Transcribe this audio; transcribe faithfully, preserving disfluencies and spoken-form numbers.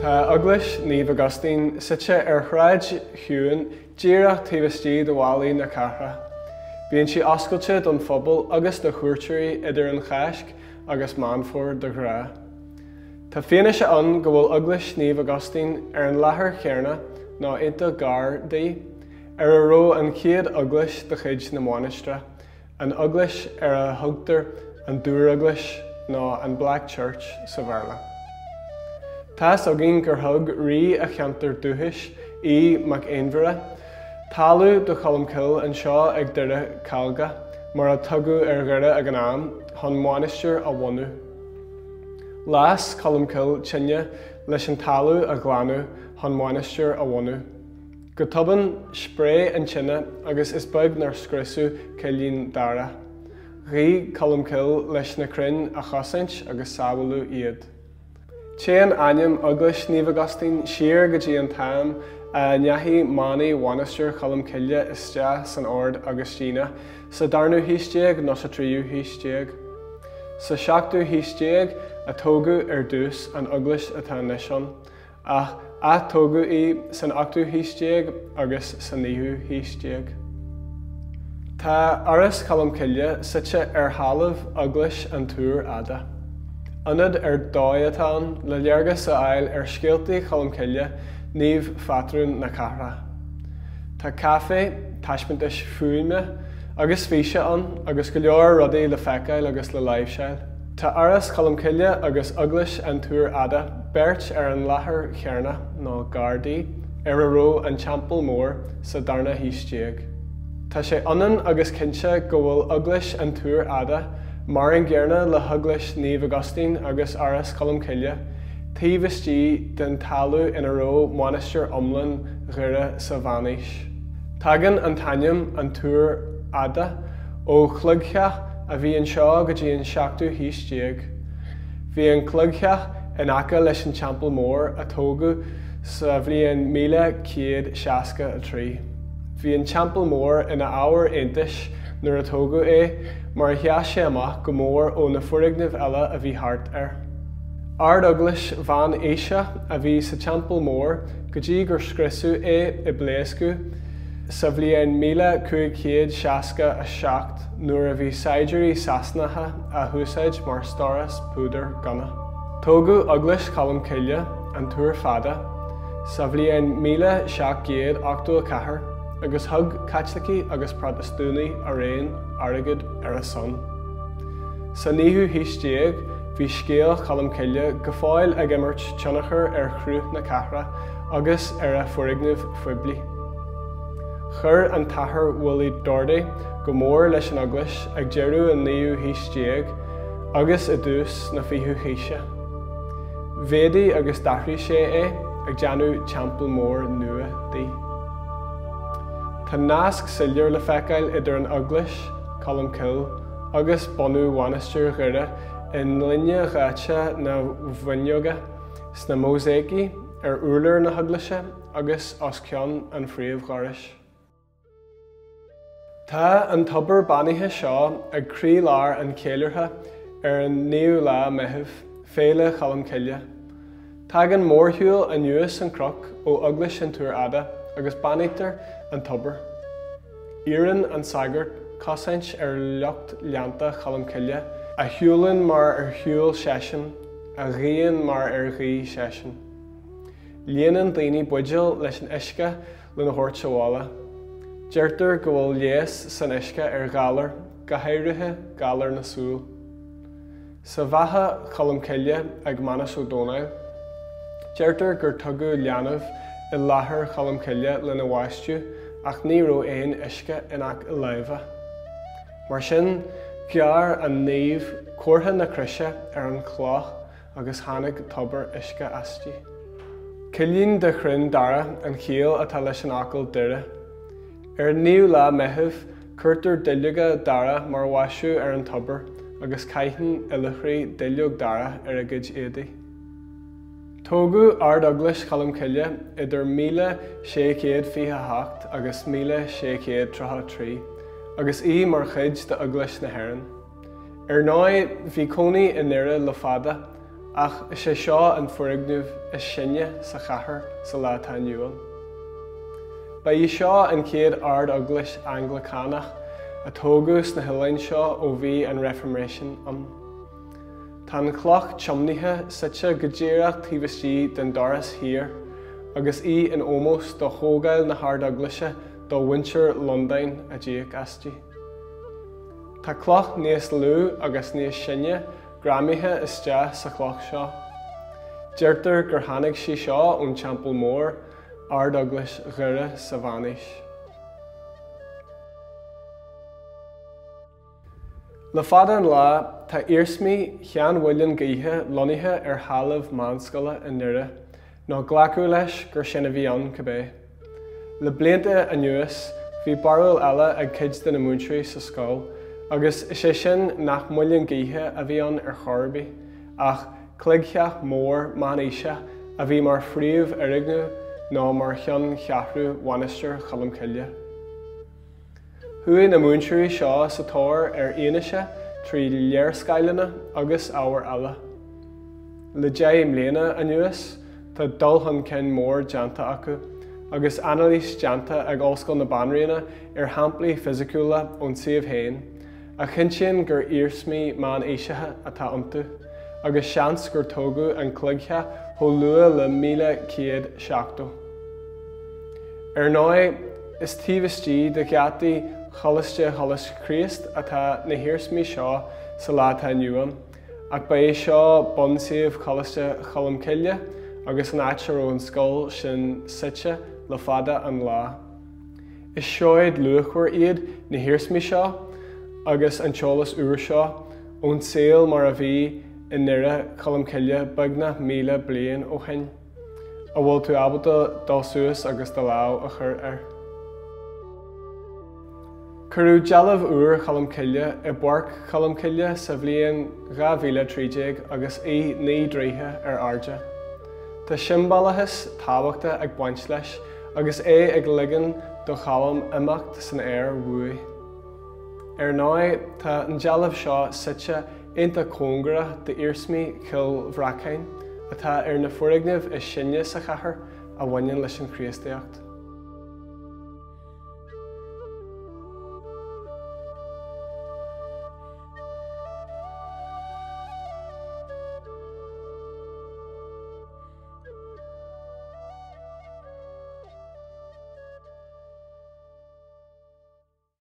Tá Eaglais Naomh Augustín suite ar shráid chiúin díreach taobh istigh de bhallaí na cathrach. Bíonn sí oscailte don phobal agus do chuairteoirí idir an Cháisc agus Meán Fómhair de ghnáth. Tá fianaise ann go bhfuil Eaglais Naomh Augustín ar an láthair chéanna nó iontach gar di, ar a raibh an chéad eaglais de chuid na mainistreach, an eaglais ar a thugtar an Dúreaglais nó an Black Church sa Bhéarla. Tá's againn gur thug rí a cheantar dúchais Aodh Mac Aonmhire, talamh do Cholmcille anseo ag Doire Calga, mar a tugadh ar Dhoire ag an am, chun mainistir a bhunú. Las Colmcille tine leis an talamh a ghlanadh chun mainistir a bhunú. Go tobann spréigh an tine agus is beag nár scriosadh Cillín Dara. Ghuigh Colmcille leis na crainn a chosaint agus sábháladh iad. Téann ainm Eaglais Naomh Augustín siar go dtí an t-am a ndeachaigh manaigh Mhainistir Cholmcille isteach san Ord Agaistíneach sa darna haois déag nó sa tríú haois déag. Sa seachtú haois déag a tógadh ar dtús an eaglais atá anois ann, ach atógadh í san ochtú haois déag agus sa naoú haois déag. Tá Áras Cholmcille suite ar thalamh Eaglais an Túir Fhada. Ionad ar dóigh atá ann le léargas a fháil ar scéaltaí Cholmcille, naomh phátrún na cathrach. Tá caife, taispeántais fuaime agus físe ann agus go leor rudaí le feiceáil agus le láimhseáil. Tá Áras Cholmcille agus Eaglais an Túir Fhada beirt ar an láthair chéanna nó gar di ar a raibh an Teampall Mór sa darna haois déag. Tá sé ionann agus cinnte go bhfuil Eaglais an Túir Fhada mar an gcéanna le hEaglais Naomh Augustín agus Áras Cholmcille, taobh istigh den talamh ina raibh mainistir iomlán Dhoire sa mheánaois. Tagann an t-ainm an Túr Fhada ó chloigtheach a bhí anseo go dtí an seachtú haois déag. Bhí an cloigtheach in aice leis an Teampall Mór a tógadh sa bhliain míle céad seasca a trí. Bhí an Teampall Mór ina ábhar iontais nuair a tógadh é, mar a sheas sé amach go mór ó na foirgnimh eile a bhí thart air. Ard-eaglais mheánaoiseach a bhí sa Teampall Mór go dtí gur scriosadh é i bpléascadh sa bhliain míle cúig chéad seasca a seacht nuair a bhí saighdiúirí Sasanacha á húsáid mar stóras púdar gunna. Tógadh Eaglais Cholmcille, an Túr Fada, sa bhliain míle seacht gcéad ochtó a ceathair agus thug Caitlicigh agus Protastúnaigh araon airgead ar a son. Sa naoú haois déag, bhí scéal Cholmcille go fóill ag imirt tionchar ar chruth na cathrach agus ar a foirgnimh phoiblí. Chuir an tAthair Willie Doherty go mór leis an eaglais ag deireadh an naoú haois déag agus i dtús na fichiú haoise. Mhéadaigh agus d'athraigh sé é ag déanamh teampall mór nua di. Tá nasc soiléir le feiceáil idir an eaglais, Colmcille, agus bunú Mhainistir Dhoire i ngloine dhaite na bhfuinneoga, sna mósáicí ar urlár na heaglaise agus os cionn an phríomhdhorais. Tá an tobar beannaithe seo ag croílár an cheiliúrtha ar an naoú lá Meitheamh, Féile Cholmcille. Tagann mórshiúl anuas an cnoc ó Eaglais an Túir Fhada agus beannaítear an tobar. Iarrann an sagart cosaint ar lucht leanta Cholmcille, a shiúlann mar ar shiúil seisean, a ghuíonn mar ar ghuigh seisean. Líonann daoine buidéil leis an uisce lena thabhairt abhaile. Deirtear go bhfuil leigheas san uisce ar ghalair, go háirithe galar na súl. Sa bheatha Cholmcille ag Manus Ó Dónaill, deirtear gur tugadh leanbh i láthair Cholmcille lena bhaisteadh ach ní raibh aon uisce in aice láimhe. Mar sin, ghearr an naomh comhartha na croise ar an chloch agus tháinig tobar uisce aisti. Cillín de chrainn dara an chiall atá leis an fhocal Doire. Ar an naoú lá Meitheamh, cuirtear duilleoga dara mar mhaisiú ar an tobar agus caitheann oilithrigh duilleog dara ar a gcuid éadaí. Tógadh Ard-Eaglais Cholmcille idir míle sé chéad fiche a hocht agus míle sé chéad tríocha a trí, agus í mar chuid d'Eaglais na hÉireann. Ar ndóigh, bhí cónaí i nDoire le fada, ach is é seo an foirgneamh is sine sa chathair sa lá atá inniu ann. Ba í seo an chéad ard-eaglais Anglacánach a tógadh sna hoileáin seo ó bhí an Reifirméisean ann. Tá an chloch tiomnaithe suite go díreach taobh istigh den doras thiar, agus í in ómós do thógáil na hard-eaglaise do mhuintir Londain a d'íoc aisti. Tá cloch níos lú agus níos sine greamaithe isteach sa chloch seo. Deirtear gur tháinig sí seo ón Teampall Mór, Ard-Eaglais Dhoire sa Mheánaois. Le fada an lá, tá iarsmaí sheanmhuileann gaoithe lonnaithe ar thalamh meánscoile i nDoire, nó glacadh leis gur sin a bhí ann cibé. Le blianta anuas, bhí barúil eile ag cuid de na múinteoirí sa scoil, agus is é sin nach muileann gaoithe a bhí ann ar chor ar bith, ach cloigtheach mór meánaoiseach a bhí mar phríomhfhoirgneamh nó mar cheanncheathrú Mhainistir Cholm Cille. Chuaigh na múinteoirí seo sa tóir ar fhianaise trí léarscáileanna agus ábhair eile. Le deich mbliana anuas, tá dul chun cinn mór déanta acu, agus anailís déanta ag Ollscoil na Banríona ar shamplaí fisiciúla ón suíomh féin, a chinntíonn gur iarsmaí meánaoiseacha atá iontu, agus seans gur tógadh an cloigtheach chomh luath le míle céad seachtó. Ar ndóigh, is taobh istigh de gheataí Choláiste Choláiste Chríost atá na hiarsmaí seo sa lá atá inniu ann, ach ba é seo bunsuíomh Choláiste Cholm Cille agus an áit a raibh an scoil sin suite le fada an lá. Is seoid luachmhar iad na hiarsmaí seo agus an t-eolas úr seo ón saol mar a bhí i nDoire Cholm Cille beagnach míle bliain ó shin, a bhfuil tú ábalta dul suas agus do lámh a chur air. Cuireadh dealbh úr Cholm Cille i bPáirc Cholm Cille sa bhliain dhá mhíle trí déag agus í naoi dtroithe ar airde. Tá siombalachas tábhachtach ag baint leis agus é ag ligean do Cholm imeacht san aer uaidh. Ar ndóigh, tá an dealbh seo suite iontach cóngarach d'iarsmaí Chill Bhreacáin atá ar na foirgnimh is sine sa chathair a bhaineann leis an Chríostaíocht.